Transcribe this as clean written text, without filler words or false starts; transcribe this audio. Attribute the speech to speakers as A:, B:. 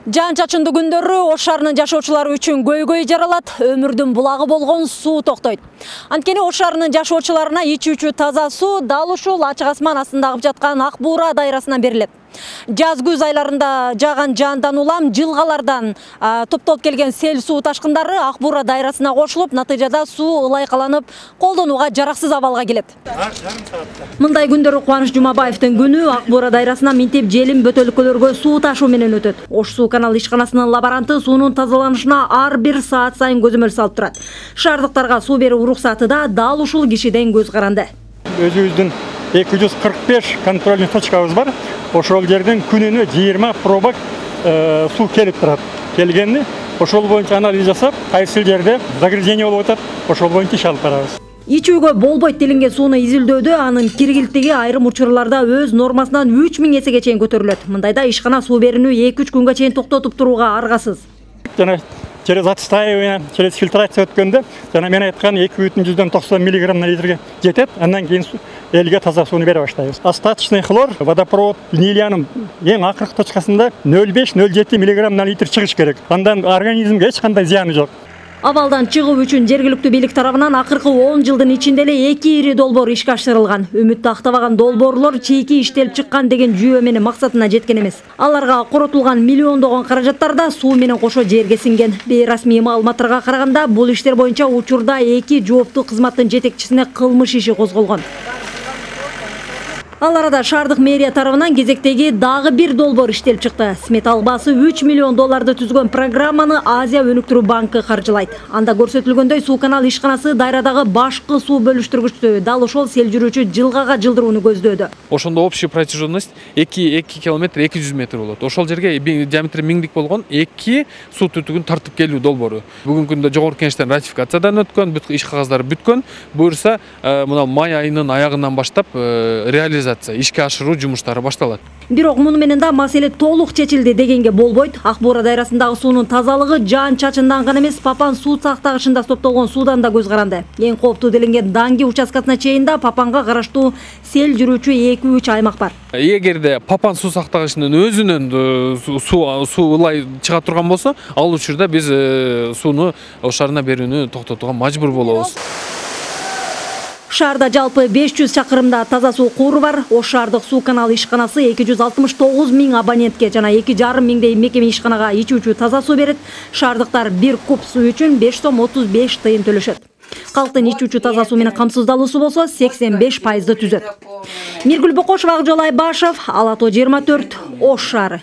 A: Жан чачындуу күндөрү Ош шаарынын жашоочулары үчүн көйгөй жаралат, өмүрдүн булагы болгон суу токтойт. Анткени Ош шаарынын жашоочуларына ичүүчү таза суу дал ушул ачык асман астында агып жаткан Ак Буура дайрасынан берилет. Жаз күз айларында жааган жаандан улам жылгалардан топтолуп келген сел суу ташкындары Ак Буура дайрасына кошулуп, натыйжада суу ылайкаланып, колдонууга жараксыз абалга келет. Мындай күндөрү Кубаныч Жумабаевдин күнү Ак Буура дайрасына минтип желим бөтөлкөлөргө суу ташуу менен өтөт. Ош суу канал ишканасынын лаборанты суунун тазаланышына ар бир саат сайын көзөмөл салып турат. Шаардыктарга суу берүү уруксаты да дал ушул кишиден көз каранды.
B: Өзүбүздүн 245 контрольный точкабыз бар. Ошол жерден күнүнө 20 пробак суу келип турат. Келгенди ошол боюнча анализ жасап, кайсы жерде загрязнение болуп атат, ошол боюнча иш алып барабыз.
A: Ичүүгө болбойт делинген сууну изилдөөдө анын киргилтиги айрым учурларда өз нормасынан 3000 эсеге чейин көтөрүлөт. Мындайда ишкана суу берүүнү 2-3 күнгө чейин токтотуп турууга аргасыз.
B: Жана через отстаивание, через фильтрация өткөндө, жана мен айткан 2,90 мг на литрге жетет. Андан кийин элге таза сууну бере баштайбыз. Остаточный хлор водопровод линиянын эң акыркы точкасында 0,5-0,7 мг на литр чыгыш керек. Андан организмге эч кандай зыяны жок.
A: Абалдан чыгуу үчүн жергиликтүү бийлик тарабынан акыркы 10 жылдын ичинде эле 2 ири долбоор ишке ашырылган. Үмүттү актабаган долбоорлор чийки иштелип чыккан деген жүйө менен максатына жеткен эмес. Аларга коротулган миллиондогон каражаттар да суу менен кошо жерге сиңген. Бейрасмий маалыматтарга караганда, бул иштер боюнча учурда 2 жооптуу кызматтын жетекчисине кылмыш иши козголгон. Ал арада шаардык мэрия тарабынан кезектеги дагы бир долбоор иштелип чыкты. Сметалык баасы $3 миллион түзгөн программаны Азия өнүктүрүү банкы каржылайт. Анда көрсөтүлгөндөй суу канал ишканасы дайрадагы башкы суу бөлүштүргүчтү дал ошол сел жүрүүчү жылгага жылдырууну көздөөдө.
C: Ошондо общая протяженность 2 километр 200 метр болот. Ошол жерге диаметри 1000 болгон 2 суу түтүгүн тартып келүү долбоору. Бүгүнкү күндө жогорку кеңештен ратификациядан өткөн, бүт иш кагаздары бүткөн. Буюрса, мына май айынын аягынан баштап реализация ишке ашыруу жумуштары башталат.
A: Бирок муну менен да маселе толук чечилди дегенге болбойт. Ак Буура дайрасындагы суунун тазалыгы жаан чачындан гана эмес, Папан суу сактагычында топтолгон суудан да көз каранды. Эң кооптуу делинген Данги участкасына чейин да Папанга караштуу сел жүрүүчү 2-3 аймак бар.
C: Эгерде Папан суу сактагычынын өзүнөн суу ылай чыга турган болсо, ал учурда биз сууну Ош шаарына берүүнү токтотууга мажбур болобуз.
A: Шаарда жалпы 500 чакырымда таза суу кууру бар. Ош шаардык суу канал ишканасы 269 000 абонентке жана 2,5 миңдей мекеме ишканага ичүүчү таза суу берет. Шаардыктар 1 куб суу үчүн 5 сом 35 тыйын төлөшөт. Калктын ичүүчү таза суу менен камсыздалуусу болсо 85% түзөт. Миргүл Бокошова, Акжол Айбашев, Ала Тоо 24, Ош шаары.